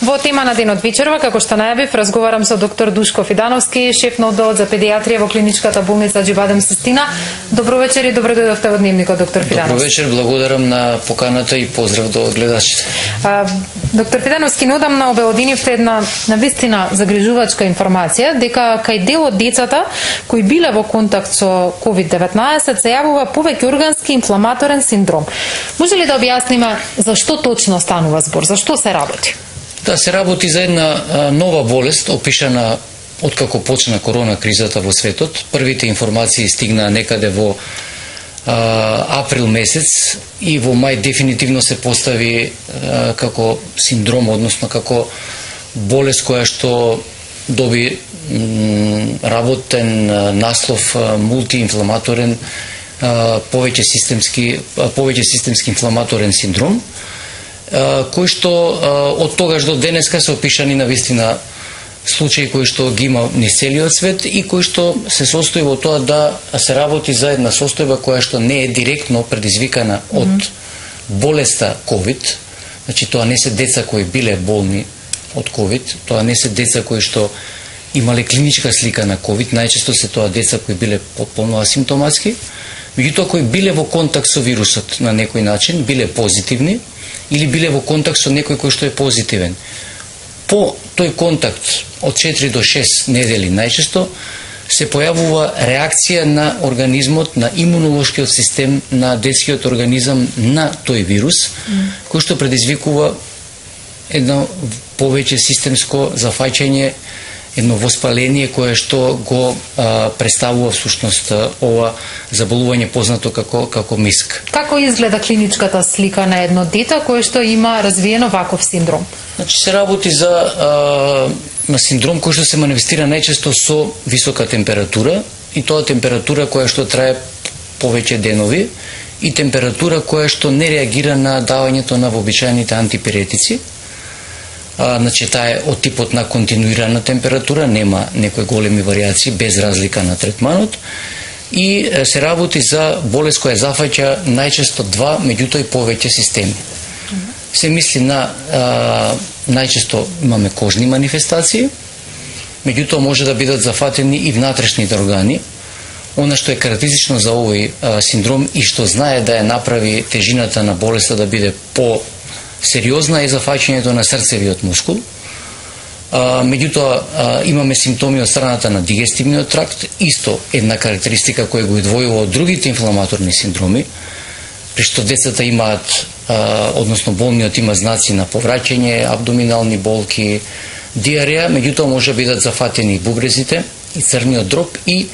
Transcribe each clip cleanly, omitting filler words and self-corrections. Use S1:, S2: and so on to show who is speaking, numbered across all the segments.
S1: Во тема на денот вечерва, како што најавив, разговарам со доктор Душко Фидановски, шеф на одделот за педијатрија во клиничката болница Џибадем Систина. Добро вечер и добро дојдовте во Дневникот, доктор Фидановски.
S2: Добро вечер, благодарам на поканата и поздрав до гледачите.
S1: Доктор Фидановски, неодамна обелоденивте една навистина загрижувачка информација дека кај дел од децата кои биле во контакт со COVID-19 се јавува повеќе органски инфламаторен синдром. Може ли да објасниме зашто точно станува збор, зашто се работи?
S2: Да, се работи за една нова болест, опишана откако почна корона кризата во светот. Првите информации стигнаа некаде во април месец и во мај дефинитивно се постави како синдром, односно како болест која што доби работен наслов мултиинфламаторен повеќе системски инфламаторен синдром, кој што од тогаш до денеска се опишани навистина случаи кои што ги има низ целиот свет и кои што се состои во тоа да се работи за една состојба која што не е директно предизвикана од болеста COVID. Значи тоа не се деца кои биле болни од COVID, тоа не се деца кои што имале клиничка слика на COVID, најчесто се тоа деца кои биле потполно асимптоматски, меѓутоа кои биле во контакт со вирусот на некој начин, биле позитивни или биле во контакт со некој кој што е позитивен. По тој контакт од 4 до 6 недели најчесто се појавува реакција на организмот, на имунолошкиот систем на детскиот организам на тој вирус, кој што предизвикува едно повеќе системско зафаќање, едно воспаление кое што го представува всушност ова заболување познато како МИСК.
S1: Како изгледа клиничката слика на едно дете кое што има развиено ваков синдром?
S2: Значи се работи за синдром кој што се манифестира најчесто со висока температура и тоа температура која што трае повеќе денови и температура која што не реагира на давањето на вообичаените антипиретици. Значи таа е од типот на континуирана температура, нема некои големи варијации без разлика на третманот и се работи за болест која зафаќа најчесто два, меѓутоа и повеќе системи. Се мисли на најчесто имаме кожни манифестации, меѓутоа може да бидат зафатени и внатрешните органи. Она што е карактеристично за овој синдром и што знае да ја направи тежината на болеста да биде сериозна е зафаќањето на срцевиот мускул. Меѓутоа имаме симптоми од страната на дигестивниот тракт, исто една карактеристика која го одвојува од другите инфламаторни синдроми, при што децата имаат, односно болниот има знаци на повраќање, абдоминални болки, диареја, меѓутоа може да бидат зафатени и бубрезите, и црниот дроб и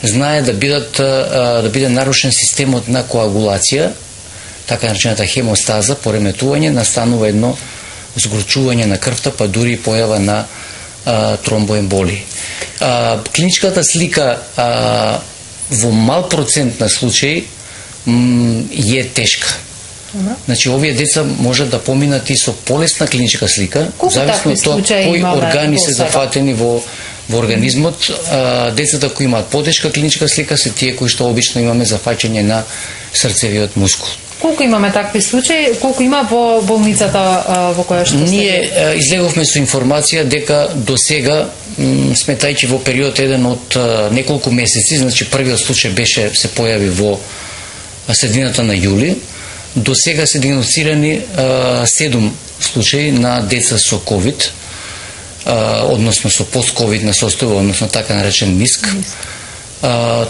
S2: знае да биде нарушен системот на коагулација, така наречената хемостаза, пореметување, настанува едно згорчување на крвта, па дури појава на тромбоемболии. Клиничката слика во мал процент на случаи е тешка. Значи, овие деца можат да поминат и со полесна клиничка слика, зависно од тоа кои органи се зафатени во организмот. Децата кои имаат потешка клиничка слика се тие кои што обично имаме зафаќање на срцевиот мускул.
S1: Колку имаме такви случаи, колку има во болницата во која што
S2: ние излеговме со информација дека до сега, сметајќи во период еден од неколку месеци, значи првиот случај се појави во средината на јули, до сега се диагностирани 7 случаи на деца со COVID, односно со пост-ковидна состојба, односно така наречен МИСК.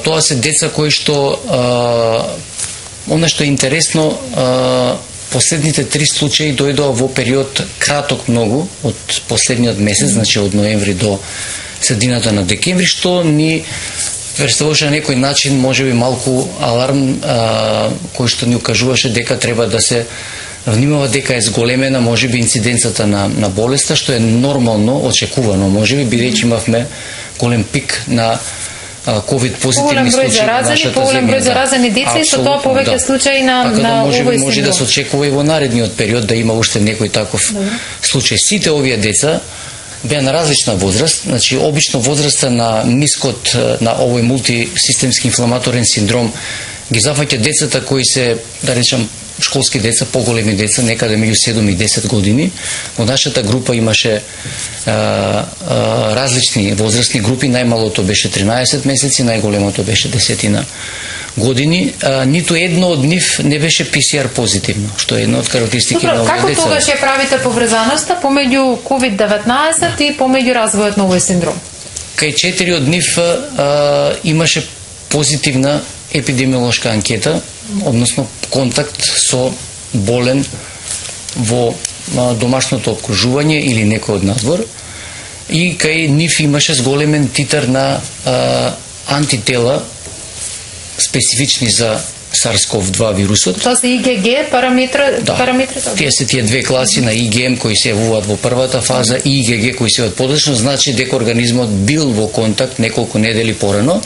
S2: Тоа се деца кои што она што е интересно, последните 3 случаи дојдоа во период краток многу од последниот месец, значи од ноември до средината на декември, што ни представуваше на некој начин можеби малку аларм, кој што ни укажуваше дека треба да се внимава, дека е зголемена можеби инциденцата на болеста, што е нормално, очекувано можеби, бидејќи имавме голем пик на ковид позитивни случаи во нашата земја.
S1: Поголем број заразени деца и со тоа повеќе случаи на овој синдром.
S2: Може да се очекува и во наредниот период да има уште некој таков случај. Сите овие деца беа на различна возраст, значи обично возраста на МИСКот, на овој мултисистемски инфламаторен синдром ги зафаќа децата кои се, да речам, школски деца, поголеми деца, некаде меѓу 7 и 10 години. Во нашата група имаше различни возрастни групи, најмалото беше 13 месеци, најголемото беше 10 години. Ниту едно од нив не беше ПСР позитивно, што е една од карактеристики на овие деца.
S1: Како тогаш ја правите поврзаноста помеѓу COVID-19 и помеѓу развојот на овој синдром?
S2: Кај 4 од нив имаше позитивна епидемиолошка анкета, односно контакт со болен во домашното обкружување или некој од надвор, и кај нив имаше зголемен титар на антитела специфични за SARS-CoV-2 вирусот.
S1: Тоа се IgG параметри?
S2: Тие се тие две класи на IgM кои се јавуваат во првата фаза и IgG кои се јавуваат подоцна, значи дека организмот бил во контакт неколку недели порано.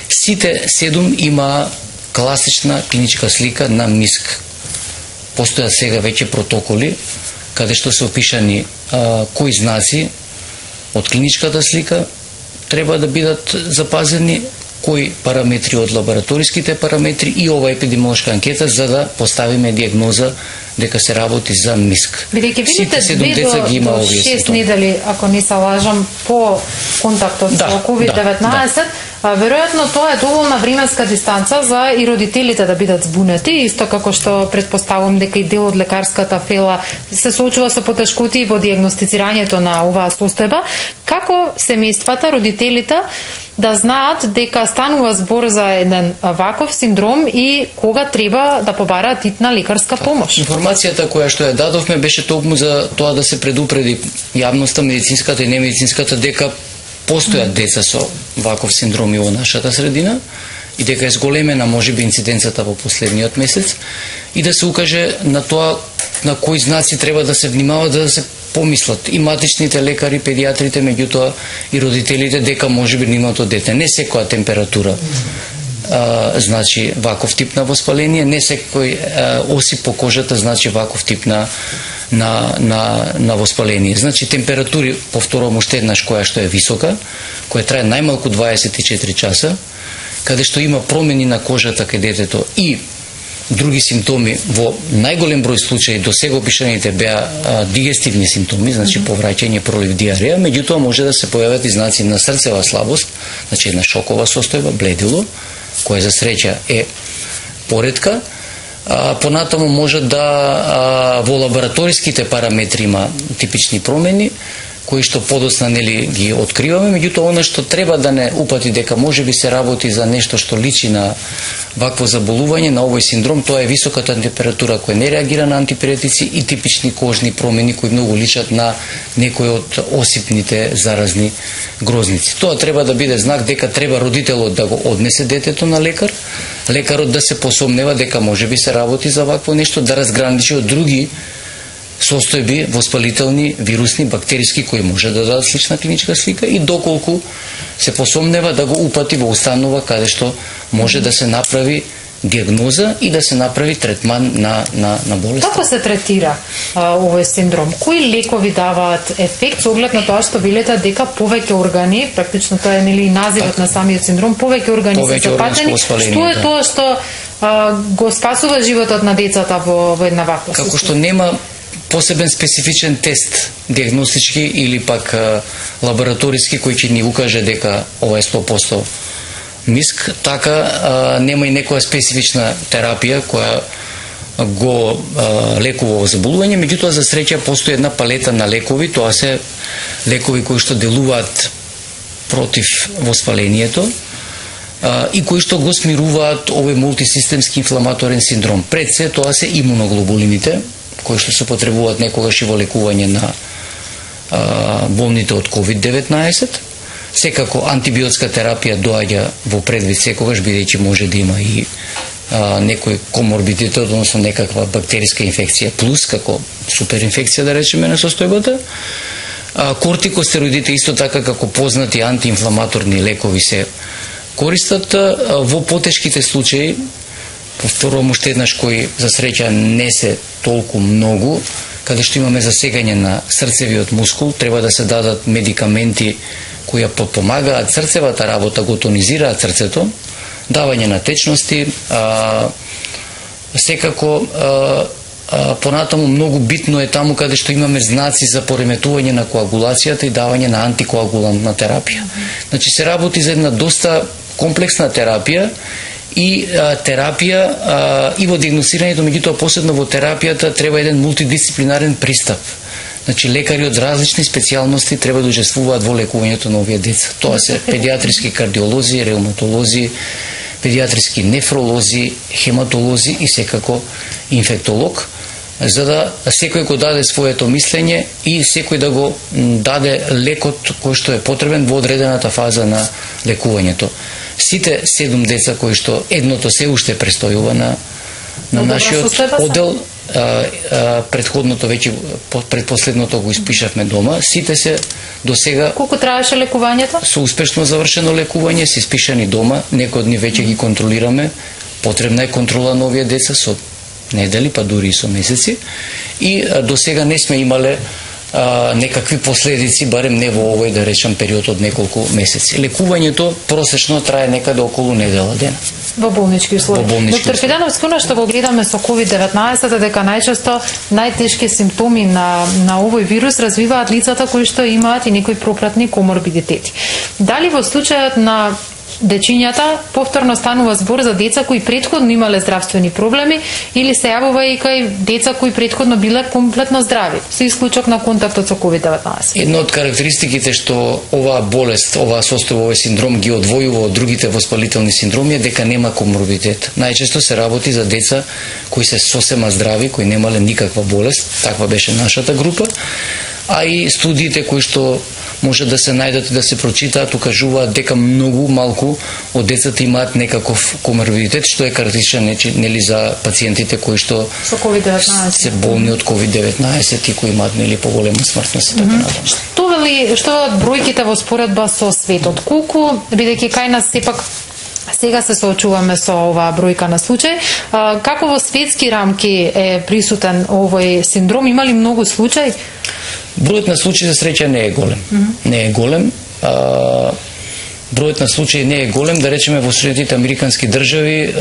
S2: Сите 7 има класична клиничка слика на МИСК. Постојат сега веќе протоколи каде што се опишани кои знаци од клиничката слика треба да бидат запазени, кои параметри од лабораториските параметри и ова епидемиолошка анкета за да поставиме диагноза дека се работи за МИСК.
S1: Бидејќи видите 2 до 6 недели, ако не се лажам, по контактот со COVID-19, веројатно тоа е доволна временска дистанца за и родителите да бидат збунети, исто како што предпоставувам дека и дел од лекарската фела се соочува со потешкоти во диагностицирањето на оваа состојба. Како семејствата, родителите да знаат дека станува збор за еден ваков синдром и кога треба да побараат итна лекарска помош?
S2: Информацијата која што ја дадовме беше токму за тоа да се предупреди јавноста, медицинската и немедицинската, дека постојат деца со ваков синдром и во нашата средина и дека е зголемена можеби инциденцата во последниот месец, и да се укаже на тоа на кои знаци треба да се внимава, да се помислат и матичните лекари, педиатрите, меѓутоа и родителите, дека можеби нивното дете не секоја температура значи ваков тип на воспаление, не секој осип по кожата значи ваков тип на воспаление. Значи температури, повторувам уште еднаш, која што е висока, која трае најмалку 24 часа, каде што има промени на кожата кај детето и други симптоми, во најголем број случаи до сега опишаните беа дигестивни симптоми, значи повраќање, пролив, диареја, меѓутоа може да се појават и знаци на срцева слабост, значи една шокова состојба, бледило, која за среќа е поретка. Понатаму може да во лабораториските параметри има типични промени, кои што подоцна нели ги откриваме, меѓутоа она што треба да не упати дека може би се работи за нешто што личи на вакво заболување, на овој синдром, тоа е високата температура која не реагира на антипиретици и типични кожни промени кои многу личат на некои од осипните заразни грозници. Тоа треба да биде знак дека треба родителот да го однесе детето на лекар, лекарот да се посомнева дека може би се работи за вакво нешто, да разграничи од други состојби воспалителни, вирусни, бактериски кои може да дадат слична клиничка слика и доколку се посомнева да го упати во установа каде што може да се направи диагноза и да се направи третман на болест.
S1: Како се третира овој синдром? Кои лекови даваат ефект со оглед на тоа што велите дека повеќе органи, практично тоа е нели називот на самиот синдром, повеќе органи се запатени? Што е тоа што го спасува животот на децата во една ваква состојба?
S2: Како што нема посебен специфичен тест, диагностички или пак лабораториски, кој ќе ни укаже дека ова е 100% МИСК, така нема и некоја специфична терапија која го лекува заболување, меѓутоа за среќа постои една палета на лекови, тоа се лекови кои што делуваат против воспалението и кои што го смируваат овој мултисистемски инфламаторен синдром. Пред се тоа се имуноглобулините, кои што се потребуваат некогаш и во лекување на болните од COVID-19. Секако антибиотска терапија доаѓа во предвид секогаш, бидејќи може да има и некој коморбидитет, односно некаква бактериска инфекција плюс, како суперинфекција да речеме на состојбата. Кортикостероидите исто така како познати антиинфламаторни лекови се користат во потешките случаи. Повторувам уште еднаш, кои за среќа не се толку многу, каде што имаме засегање на срцевиот мускул, треба да се дадат медикаменти кои подпомагаат срцевата работа, го тонизираат срцето, давање на течности, секако понатаму многу битно е таму каде што имаме знаци за пореметување на коагулацијата и давање на антикоагулантна терапија. Значи се работи за една доста комплексна терапија и терапија и во диагностирањето, меѓутоа посебно во терапијата треба еден мултидисциплинарен пристап. Значи лекари од различни специјалности треба да учествуваат во лекувањето на овие деца. Тоа се педиатриски кардиолози, реуматолози, педиатриски нефролози, хематолози и секако инфектолог, за да секој го даде своето мислење и секој да го даде лекот кој што е потребен во одредената фаза на лекувањето. Сите 7 деца кои што едното се уште престојува на нашиот оддел, предходното веќе предпоследното го испишавме дома, сите се до сега.
S1: Колку траеше лекувањето?
S2: Со успешно завршено лекување, се испишани дома, некои од нив веќе ги контролираме. Потребна е контрола на овие деца со недели, па дури и со месеци. И до сега не сме имале некакви последици, барем не во овој, да речем, период од неколку месеци. Лекувањето просечно трае некаде околу недела дена.
S1: Во болнички услови. Доктор Фидановски, она што го гледаме со COVID-19 дека најчесто најтешки симптоми на овој вирус развиваат лицата кои што имаат и некои пропратни коморбидитети. Дали во случајот на дечињата повторно станува збор за деца кои претходно имале здравствени проблеми или се јавува и кај деца кои претходно биле комплетно здрави, со исклучок на контактот со COVID-19?
S2: Една од карактеристиките што оваа болест, оваа состојба, овој синдром ги одвојува од другите воспалителни синдроми е дека нема коморбидитет. Најчесто се работи за деца кои се сосема здрави, кои немале никаква болест, таква беше нашата група, а и студиите кои што може да се најдат и да се прочитаат, укажуваат дека многу малку од децата имаат некаков коморбидитет, што е карактеристичен нели за пациентите кои што се болни од COVID-19 и кои имаат нели поголема смртност и така натаму.
S1: Што бројките во споредба со светот? Колку, бидејќи кај нас сепак сега се соочуваме со оваа бројка на случаи, како во светски рамки е присутен овој синдром? Има ли многу случаи?
S2: Бројот на случаи за среќа не е голем. Не е голем. Бројот на случаи не е голем, да речеме во Соединетите американски држави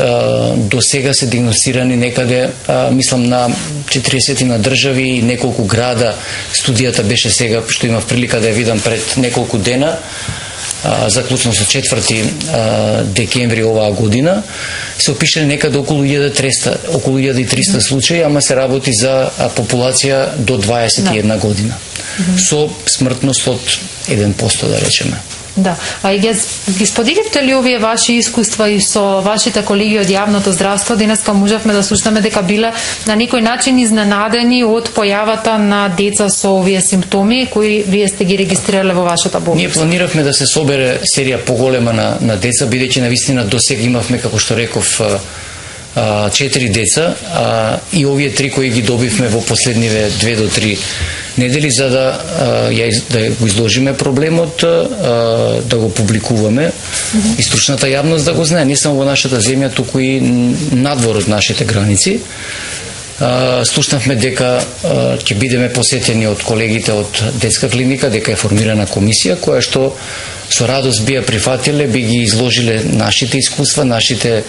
S2: до сега се диагностирани некаде, мислам на 40 на држави и неколку града. Студијата беше сега, што имав прилика да ја видам пред неколку дена, заклучно со 4 декември оваа година, се опишани некаде околу 1300 случаи, ама се работи за популација до 21 година. Со смртност од 1%, да речеме.
S1: Да, а и ги споделивте ли овие ваши искуства и со вашите колеги од јавното здравство? Денеска можевме да слушнеме дека биле на некој начин изненадени од појавата на деца со овие симптоми кои вие сте ги регистрирале во вашата болница.
S2: Ние планиравме да се собере серија поголема на деца, бидејќи навистина до сега имавме, како што реков, 4 деца, и овие 3 кои ги добивме во последниве 2 до 3 недели, за да го изложиме проблемот, да го публикуваме и стручната јавност да го знае, не само во нашата земја, туку и надвор од нашите граници. Слушнавме дека ќе бидеме посетени од колегите од детска клиника, дека е формирана комисија која што со радост би ја прифатиле, би ги изложиле нашите искуства, нашите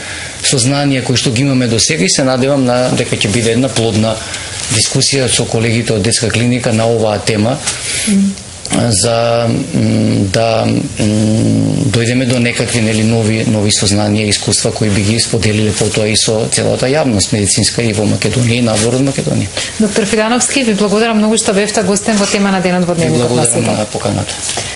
S2: сознанија кои што ги имаме до сега, и се надевам дека ќе биде една плодна дискусија со колегите од детска клиника на оваа тема, за да дојдеме до некакви нови сознанија и искуства кои би ги споделиле потоа и со целата јавност медицинска и во Македонија и надвор од Македонија.
S1: Доктор Фидановски, ви благодарам многу што бевте гостен во тема на денот во Дневникот на Светот.
S2: Благодарам на поканата.